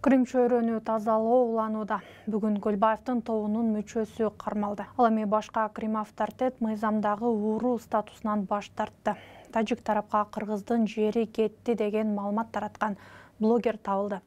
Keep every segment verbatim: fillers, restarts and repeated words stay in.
Крим чөйрөнү тазалоо уланууда. Бүгүн Көлбаевдин тобунун мүчөсү кармалды. Ал эми башка Крим авторитет мыйзамдагы ууру статусунан баш тартты. Тажик тарапка кыргыздын жери кетти деген маалымат тараткан блогер табылды.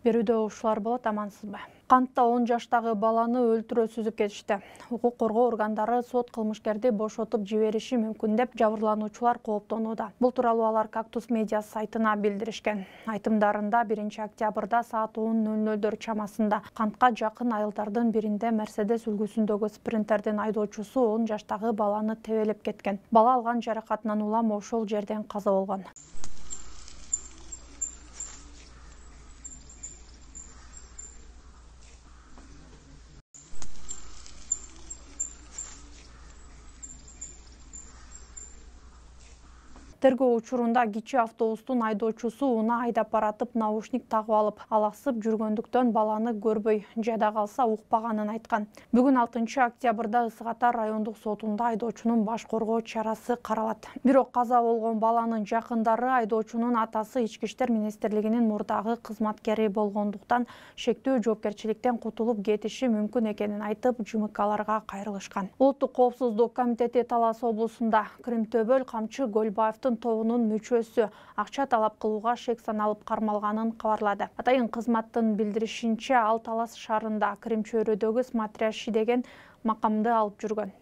Берүүдө ушулар болот, амансызбы? Кантта он жаштагы баланы өлтүрө сүзүп кетишти. Укук коргоо органдары сот кылмышкерди бошотуп жибериши мүмкүн деп жабырлануучулар кооптонууда. Бул тууралуу алар Кактус медиа сайтына билдиришкен. Айтымдарында биринчи октябрда саат он ноль нолдор чамасында кантка жакын айылдардын биринде Мерседес үлгүсүндөгү спринтердин айдоочусу он жаштагы баланы тебелеп кеткен. Бала алган жаракатынан улам ошол жерден каза болгон. Тергөө учурунда кичи автобустун айдоочусу уна айдап баратып наушник тагып алып, алаксып жүргөндүктөн баланы көрбөй, жада калса укпаганын айткан. Бүгүн алтынчы октябрда Ысык Ата райондук сотунда айдоочунун баш коргоо чарасы каралат. Бирок каза болгон баланын жакындары айдоочунун атасы Ички иштер министрлигинин мурдагы кызматкери болгондуктан шектүү жоопкерчиликтен кутулуп кетиши мүмкүн экенин айтып, ЖМКларга кайрылышкан. Улуттук коопсуздук комитети Талас облусунда Кримтөбөл Камчы Көлбаевдин тобунун мүчөсү акча талап кылууга шек саналып кармалганын кабарлады. Атайын кызматтын билдиришинче, ал Талас шаарында Крим чөйрөдөгү смотрящий деген макамды алып жүргөн.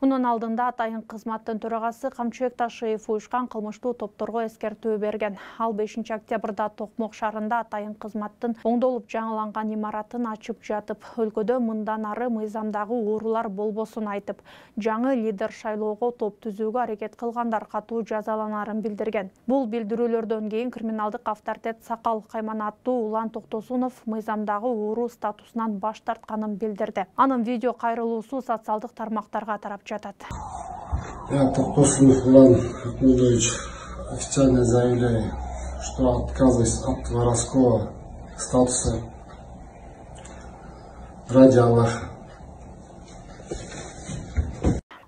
Мунун алдында атайын кызматтын төрагасы Камчыбек Ташиев уюшкан кылмыштуу топторго эскертүү берген. Ал бешинчи октябрда Токмок шаарында атайын кызматтын оңдолуп жаңыланган имаратын ачып жатып, өлкөдө мындан ары мыйзамдагы уурулар болбосун айтып, жаңы лидер шайлоого топ түзүүгө аракет кылгандар катуу жазаланарын билдирген. Бул билдирүүлөрдөн кийин криминалдык авторитет Сакал Кайманаттуу Улан Токтосунов мыйзамдагы ууру статусунан баш тартканын билдирди. Анын видео кайрылуусу социалдык тармактарга тарап жатат. Я, Токтосунов Улан Ахмедович, официально заявляю, что отказываюсь от воровского статуса ради Аллаха.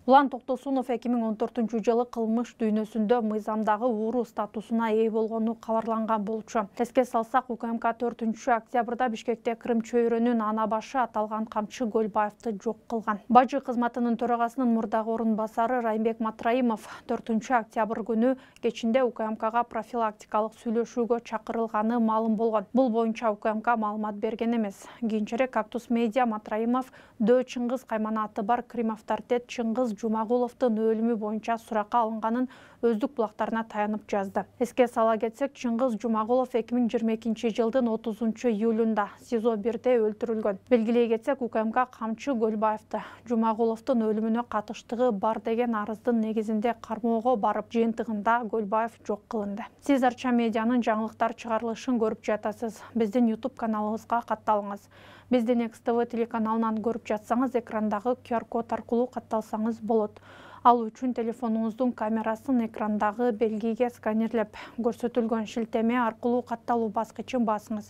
Улан Токтосунов эки миң он төртүнчү жылы кылмыш дүйнөсүндө мыйзамдагы ууру статусуна ээ болгону кабарланган болчу. Эске салсак, УКМК төртүнчү октябрда Бишкекте Крим чөйрөнүн ана башы аталган Камчы Көлбаевди жок кылган. Бажы кызматынын төрагасынын мурдагы орун басары Райымбек Матраимов төртүнчү октябрь күнү кечинде УКМКга профилактикалык сүйлөшүүгө чакырылганы маалым болгон. Бул боюнча УКМК маалымат берген эмес. Кийинчерээк Кактус медиа Матраимов Дөө Чыңгыз кайманаты бар Крим авторитет Чыңгыз Жумагуловдун өлүмү боюнча суракка алынганын өздүк булактарына таянып жазды. Эске сала кетсек, Чыңгыз Жумагулов эки миң жыйырма экинчи жылдын отузунчу июлунда СИЗО бирде өлтүрүлгөн. Белгилей кетсек, УКМК Камчы Көлбаевди Жумагуловдун өлүмүнө катыштыгы бар деген арыздын негизинде кармоого барып, жыйынтыгында Көлбаев жок кылынды. Сиз Арча медианын жаңылыктар чыгарылышын көрүп жатасыз. Биздин YouTube каналыбызга катталыңыз. Биздин Экс Тэ Вэ телеканалынан көрүп жатсаңыз, экрандагы Q R код аркылуу катталсаңыз болот. Ал үчүн телефонуңуздун камерасын экрандагы белгиге сканерлеп, көрсөтүлгөн шилтеме аркылуу катталуу баскычын басыңыз.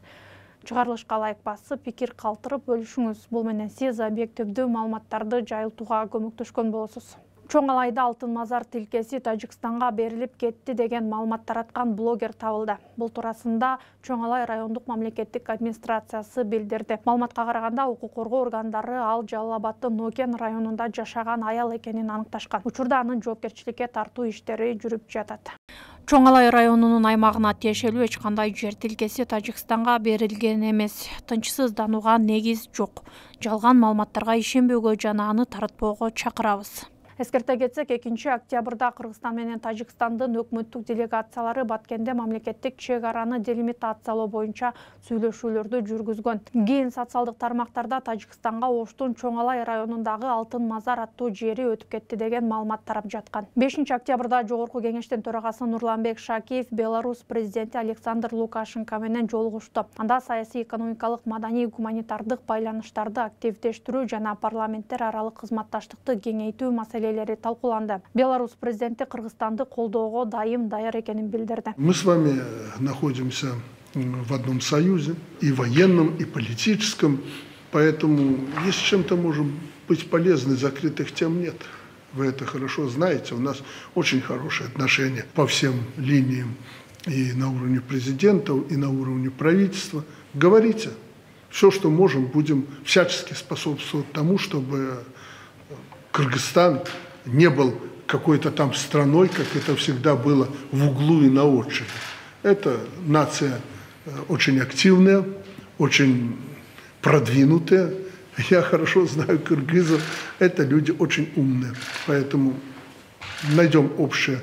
Чыгарылышка лайк басып, пикир калтырып бөлүшүңүз. Бул менен сиз объективдүү маалыматтарды жайылтууга көмөктөшкөн болосуз. Чоң Алайда алтын мазар тилкеси Тажикстанга берилип кетти деген маалымат тараткан блогер табылды. Бул туурасында Чоң Алай райондук мамлекеттик администрациясы билдирди. Маалыматка караганда, укук коргоо органдары ал Жалал Абаддын Нокен районунда жашаган аял экенин аныкташкан. Учурда анын жоопкерчиликке тартуу иштери жүрүп жатат. Чоң Алай районунун аймагына тиешелүү эч кандай жер тилкеси Тажикстанга берилген эмес. Тынчсызданууга негиз жок. Жалган маалыматтарга ишенбөөгө жана аны таратпоого чакырабыз. Эскерте кетсек, экинчи октябрда Кыргызстан менен Тажикстандын өкмөттүк делегациялары Баткенде мамлекеттик чек араны делимитациялоо боюнча сүйлөшүүлөрдү жүргүзгөн. Кийин социалдык тармактарда Тажикстанга Оштун Чоңалай районундагы Алтын Мазар аттуу жери өтүп кетти деген маалымат тарап жаткан. бешинчи октябрда Жогорку Кеңештин төрагасы Нурланбек Шакиев Беларусь президенти Александр Лукашенко менен жолугушту. Анда саясий, экономикалык, маданий, гуманитардык байланыштарды активдештирүү жана парламенттер аралык кызматташтыкты кеңейтүү маселелери талкууланды. Беларусь президенти Кыргызстанды колдоого дайым даяр экенин билдирди. Мы с вами находимся в одном союзе, и военном, и политическом, поэтому если чем-то можем быть полезны, закрытых тем нет. Вы это хорошо знаете, у нас очень хорошие отношения по всем линиям, и на уровне президентов, и на уровне правительства. Говорите, все, что можем, будем всячески способствовать тому, чтобы Кыргызстан не был какой-то там страной, как это всегда было, в углу и на отшибе. Это нация очень активная, очень продвинутая. Я хорошо знаю кыргызов, это люди очень умные. Поэтому найдем общие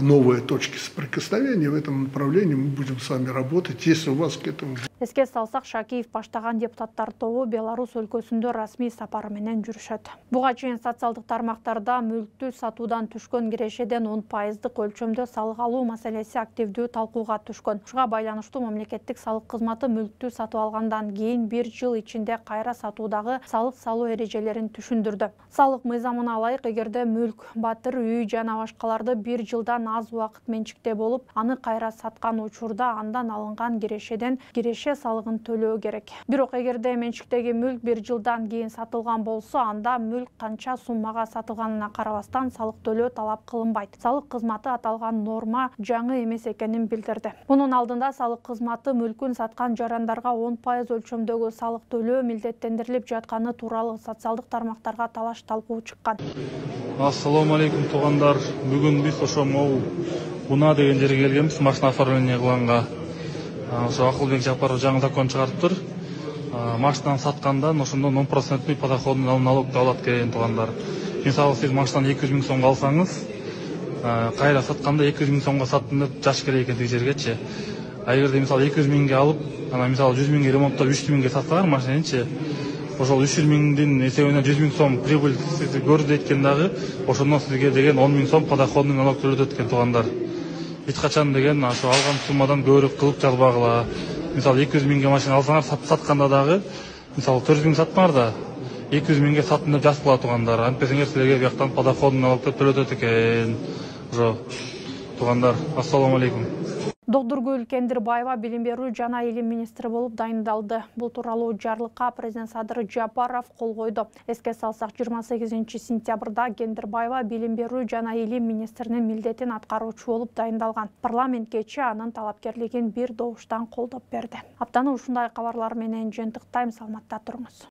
новые точки соприкосновения. В этом направлении мы будем с вами работать, если у вас к этому... Эске салсак, Шакиев баштаган депутаттар тобу Беларусь өлкөсүндө расмий сапар менен жүрүшөт. Буга чейин социалдык тармактарда мүлктү сатуудан түшкөн кирешеден он пайыздык өлчөмдө салык алуу маселеси активдүү талкууга түшкөн. Ушуга байланыштуу мамлекеттик салык кызматы мүлктү сатып алгандан кийин бир жыл ичинде кайра сатуудагы салык салуу эрежелерин түшүндүрдү. Салык мыйзамына ылайык, эгерде мүлк, батыр, үй жана башкаларды бир жылдан аз убакыт менчикте болуп, аны кайра саткан учурда андан алынган кирешеден киреше салыгын төлөө керек. Бирок эгерде менчиктеги мүлк бир жылдан кийин сатылган болсо, анда мүлк канча суммага сатылганына карабастан салык төлөө талап кылынбайт. Салык кызматы аталган норма жаңы эмес экенин билдирди. Мунун алдында салык кызматы мүлкүн саткан жарандарга он пайыз өлчөмдөгү салык төлөө милдеттендирилип жатканы тууралуу социалдык тармактарга талаш талкуу чыккан. Ассаламу алейкум туугандар. Бүгүн биз ошо могу Буна деген жерге келгенбиз, машина оформление кылганга. Ошо Акылбек Жапаров жаңы закон чыгарыптыр. Машинаны саткандан ошондон он проценттүү подоходный налогду алат экен туугандар. Мисалы сиз машинаны эки жүз миң сомго алсаңыз, кайра сатканда эки жүз миң сомго саттым деп жаш керек экен тиги жергечи. А эгерде мисалы эки жүз миңге алып, ана мисалы жүз миңге ремонттоп үч жүз миңге сатсаңар машинанычы, ошол үч жүз миңдин эсебинен жүз миң сом прибыль көрдү экен дагы, ошондон сизге деген он миң сом подоходный налог төлөтөт экен туугандар. Эч качан деген ошо алган суммадан көбүрөөк кылып жазбагыла. Мисалы эки жүз миңге машина алсаңар, сатканда дагы, мисалы төрт жүз миң саттыңар да, эки жүз миңге саттым деп жазгыла туугандар. Антпесеңер силерге бияктан подоходный налогду төлөтөт экен. Ошо туугандар, ассаламу алейкум. Докторгүл Кендирбаева билим берүү жана илим министри болуп дайындалды. Бул тууралуу жарлыкка президент Садыр Жапаров кол койду. Эске салсак, жыйырма сегизинчи сентябрда Кендирбаева билим берүү жана илим министринин милдетин аткаруучу болуп дайындалган. Парламент кечээ анын талапкерлигин бир добуштан колдоп берди. Аптаны ушундай кабарлар менен жыйынтыктайм, саламатта туруңуз.